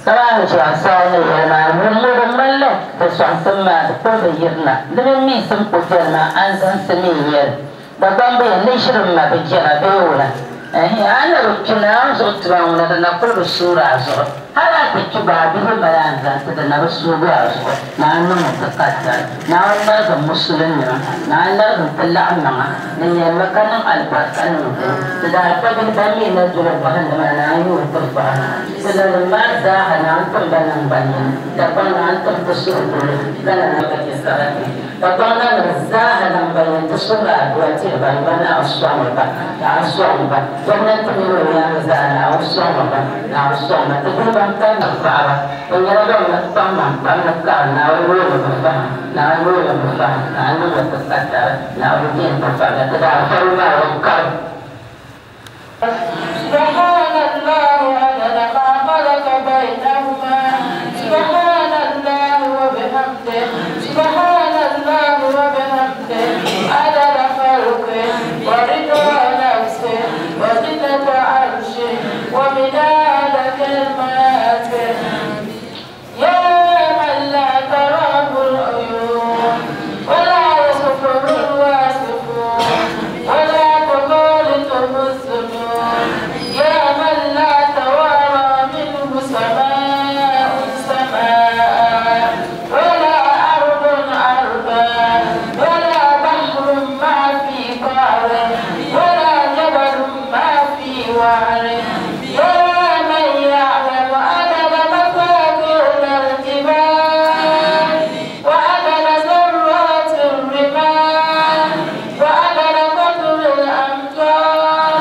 طبعا شو عصاني يا معلم ملك بس عصما كل يرنا لمن ميسم قدرنا أنزل سمير بقام بين نشر ما بجرا بيولا. أنا ركنا زرت معنا لنا كل الصورة زرت. Hali ti kpi gba a bihi mali a n-zaŋ ti di na bi suugi a zuɣu Naawuni niŋ ti katari Naawuni larigim musulinima Naawuni larigim ti laɣim maŋa di nyɛlimi ka niŋ alibarika niŋ di ti daa kpa bihi ban mi na doli bɔhindi maa Naawuni yooi ti fahim ti lanim maa zaaha Naawuni tim ba naŋgban yini Dagbaŋ Naawuni tim ti suhudolo ka na ka chɛ sarati Dagbaŋ nanim zaaha naŋgban yini ti suhuri adua tiri ba ni ba Naawuni sɔŋmi ba Naawuni sɔŋmi ba gomnanti mini o nyaanga zaa Naawuni sɔŋmi ba Naawuni sɔŋmi ba ti bihi ban kalli paɣaba bɛ nyɛla ban kpaŋ maŋ pam ni kaɣa Naawuni yooi bi fahim Naawuni yooi bi fahim Naawuni niŋmi ti katari Naawuni diɛm ti fahim ti daa fari maa ŋun karim. سبحان الله عدد ما خلق بينهما سبحان الله وبحمده سبحان الله وبحمده عدد خلقه ورضا نفسه وزنة عرشه ومداد كلماته يا من لا تراه العيون ولا يصفه الواصفون ولا تخالطه الظنون يا من لا توارى منه سماء سماء ولا أرض أرضا ولا بحر ما في قعره ولا جبل ما في وعره يا من يعلم عدد مفاخر الجبال وعدد ذرات الرمال وعدد قطر الأمطار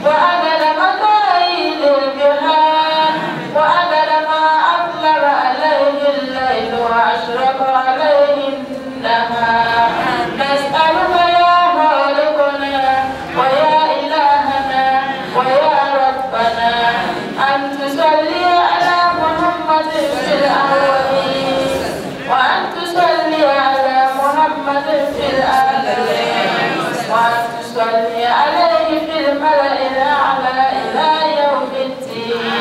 وعدد مكاييل البحار وعدد ما أظلم عليه الليل وأشرق عليه النهار نسألك يا خالقنا ويا إلهنا ويا ربنا أن تصلي على محمد في الأولين وأن تصلي على محمد في الآخرين وأن تصلي عليه في الملأ الأعلى إلى يوم الدين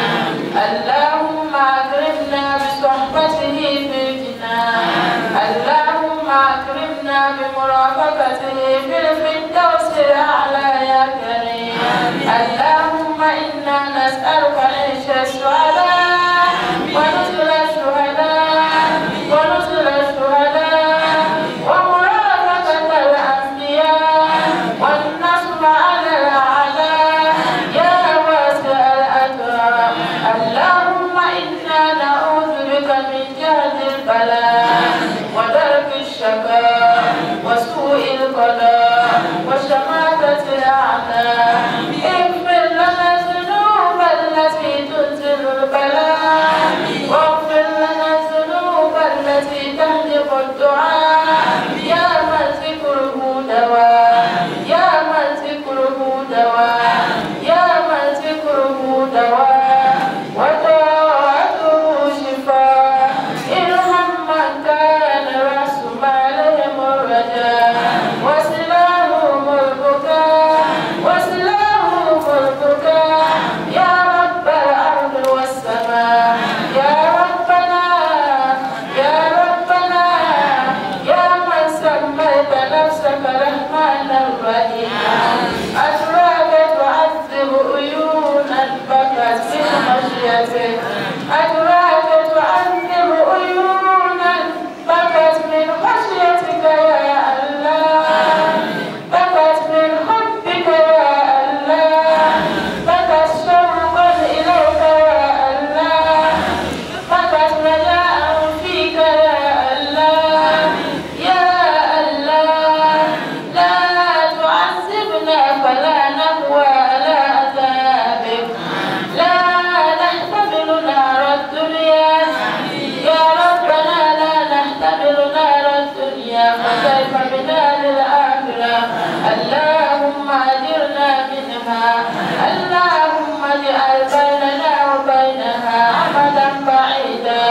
اللهم أكرمنا بصحبته في الجنان اللهم أكرمنا بمرافقته في الفردوس الأعلى يا كريم اللهم إنا نسألك عيش السعداء ونزل الشهداء ونزل الشهداء ومرافقة الأنبياء والنصر على الأعداء يا واسع الأكرام اللهم إنا نعوذ بك من جهد البلاء ودرك الشقاء وسوء القضاء وشماتة الأعداء اغفر لنا الذنوب التي تنزل البلاء واغفر لنا الذنوب التي تهدف الدعاء يا من ذكره دواء يا من ذكره دواء يا من ذكره دواء وطاعته شفاء ارحم من كان رأس مالهم الرجاء وسلاهم البكاء وسلاهم البكاء يا رب الأرض والسماء يا ربنا يا ربنا يا من سميت نفسك رحمن الرحيم أتراك تعذب عيونا بكت من خشيتك أتراك تعذب عيونا بكت من خشيتك يا الله بكت من حبك يا الله بكت شوقا إليك يا الله بكت رجاء فيك يا الله يا الله لا تعذبنا فلا نقوى على عذابك لا نحتمل نار الدنيا يا ربنا لا نحتمل نار الدنيا فكيف بنا للآخرة اللهم أجرنا منها اللهم اجعل بيننا وبينها أمدا بعيدا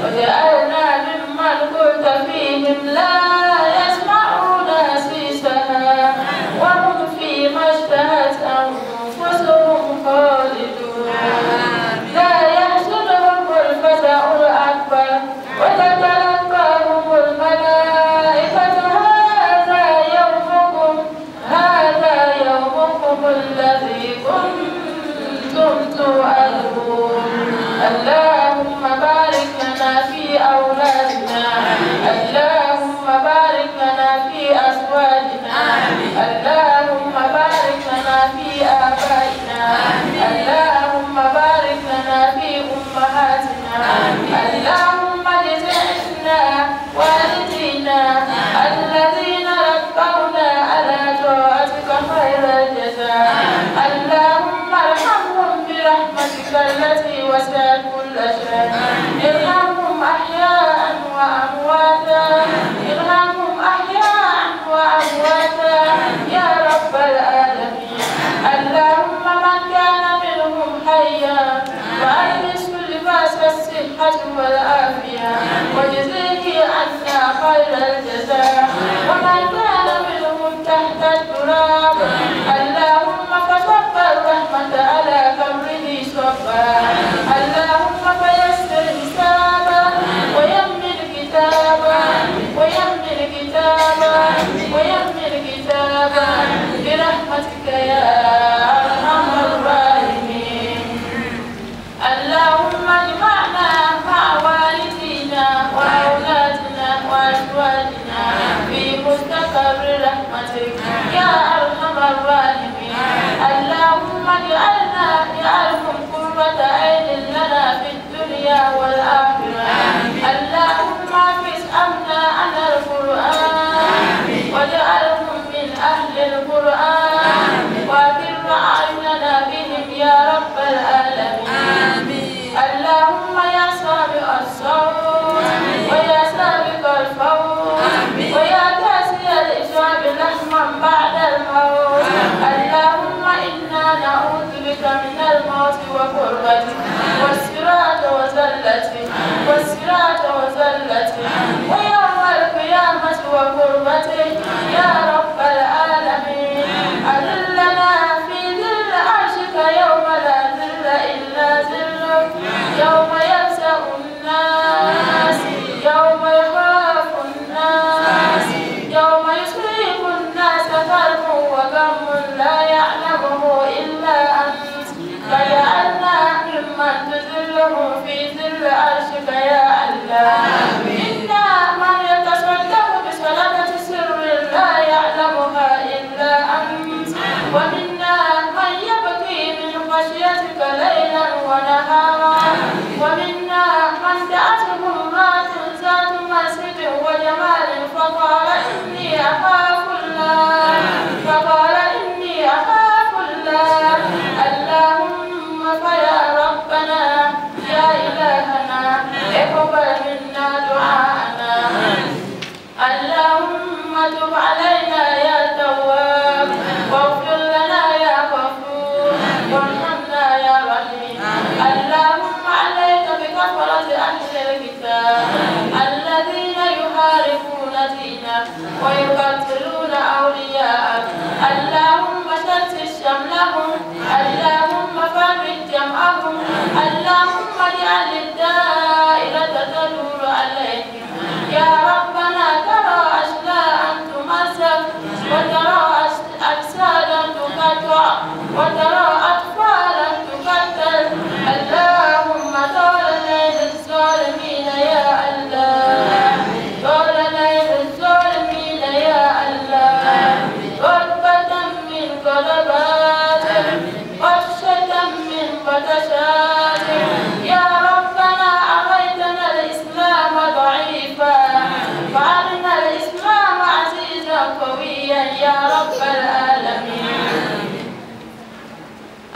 واجعلنا ممن قلت فيهم لا يسمعون حسيسها وهم فيما اشتهت أنفسهم خالدون لا يحزنهم الفزع الأكبر وتتلقاهم الملائكة هذا يومكم هذا يومكم الذي كنتم توعدون. الله اللهم بارك لنا في أمهاتنا. اللهم اجزنا والدينا الذين ربونا على طاعتك خير الجزاء. اللهم ارحمهم برحمتك التي وسعت كل شيء. ارحمهم أحياء وأمواتا، ارحمهم أحياء وأمواتا يا رب العالمين. اللهم من كان منهم حيا وألبسه لباس الصحة والعافية واجزيه عنا خير الجزاء. ومن كان منهم تحت التراب اللهم فصب الرحمة على قبره صبا. اللهم فيسر حسابه ويمن كتابه ويمن كتابه ويمن كتابه برحمتك يا أرحم الراحمين. اللهم اجمعنا مع والدينا وأولادنا وأزواجنا في مستقر رحمتك يا أرحم الراحمين. اللهم اجعلنا اجعلهم قرة عين لنا في الدنيا والآخرة. اللهم احفظ أبناءنا القرآن واجعلهم من أهل القرآن وأقر أعيننا بهم يا رب العالمين. اللهم يا سابق الصوت ويا سابق الفوز ويا كاسي الإجاب لحما بعد الموت. اللهم إنا نعوذ بك من الموت وكربته والصراط وزلته والصراط وزلته ويوم القيامة وكربته يا رب العالمين. أذلنا في ظل عرشك يوم لا ظل إلا ظلك، يوم يفزع الناس، يوم يخاف الناس، يوم يصيب الناس كرب وغم لا يعلمه إلا أنت. فجعلنا ممن تذله في ظل عرشك يا الله. إنا من يتصدق بصدقة سر لا يعلمها إلا أنت، ومنا من يبكي من خشيتك ليلا ونهارا، ومنا من دعته امرأة ذات منصب وجمال فقال إني أخاف الله، فقال إني أخاف الله. اللهم فيا ربنا يا إلهنا اقبل منا دعاءنا. اللهم تب علينا يا تواب، واغفر لنا يا غفور، وارحمنا يا رحيم. اللهم عليك بكثرة أهل الكتاب الذين يحاربون دينك ويقتلون أولياءك. اللهم شتت شملهم، اللهم فرج جمعهم، اللهم اجعل الدائرة تدور عليهم. يا ربنا ترى أشلاء تمزق، وترى أجسادا تقطع، وترى أطفالا تقتل. اللهم طال ليل الظالمين يا الله، طال ليل الظالمين يا الله. غضبة من غضباتك، بطشة من بطشاتك. يا ربنا أريتنا الإسلام ضعيفا فأرنا الإسلام عزيزا قويا يا رب العالمين.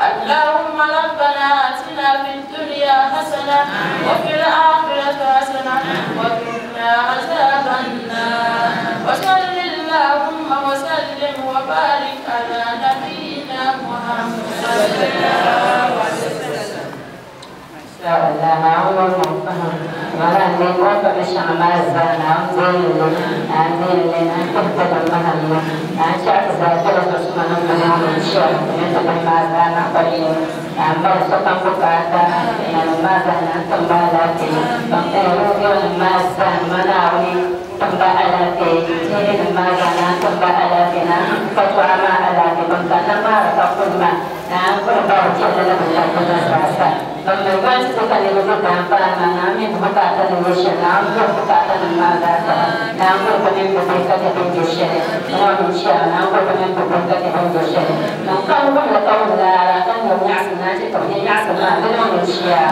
اللهم ربنا آتنا في الدنيا حسنة وفي الآخرة حسنة وقنا عذاب النار. وصل اللهم وسلم وبارك على نبينا محمد. nyɛ nyaɣasim naa chɛ ka bi nyɛ nyaɣasim maa di niŋ ni chia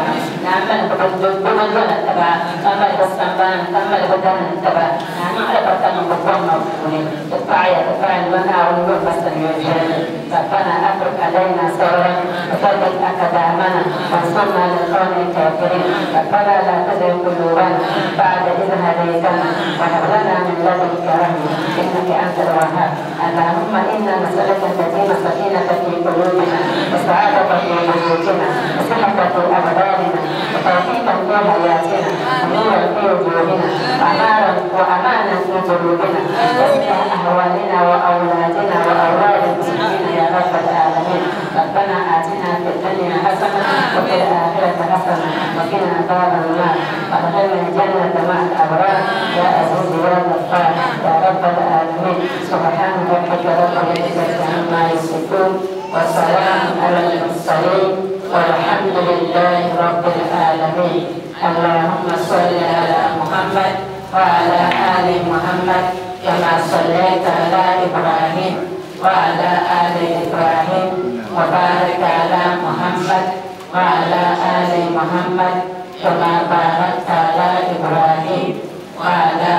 naa mali bi bindona taba ka mali bi sambani ka mali bi dani taba naa niŋ alibarika niŋ bi gomma puuni ti paɣaya ti paɣaya ni Naawuni yom ba sanyo viɛlli. ربنا أفرغ علينا صبرا وثبت أقدامنا وانصرنا على القوم الكافرين. ربنا لا تزغ قلوبنا بعد إذ هديتنا وهب لنا من لدنك رحمة إنك أنت الوهاب. اللهم إنا نسألك تديم سكينة في قلوبنا وسعادة في بيوتنا وصحة في أبداننا وتوفيقا في حياتنا ونورا في وجوهنا وأمانا في قلوبنا واصلح أهوالنا وأولادنا وأولاد المسلمين يا رب العالمين. ربنا آتنا في الدنيا حسنة وفي الآخرة حسنة وقنا عذاب النار وأدخلنا الجنة مع الأبرار يا عزيز يا غفار يا رب العالمين. سبحان ربك رب العزة عما يصفون وسلام على المرسلين والحمد لله رب العالمين. اللهم صل على محمد وعلى آل محمد كما صليت على إبراهيم وعلى آل إبراهيم وبارك على محمد وعلى آل محمد كما باركت على إبراهيم وعلى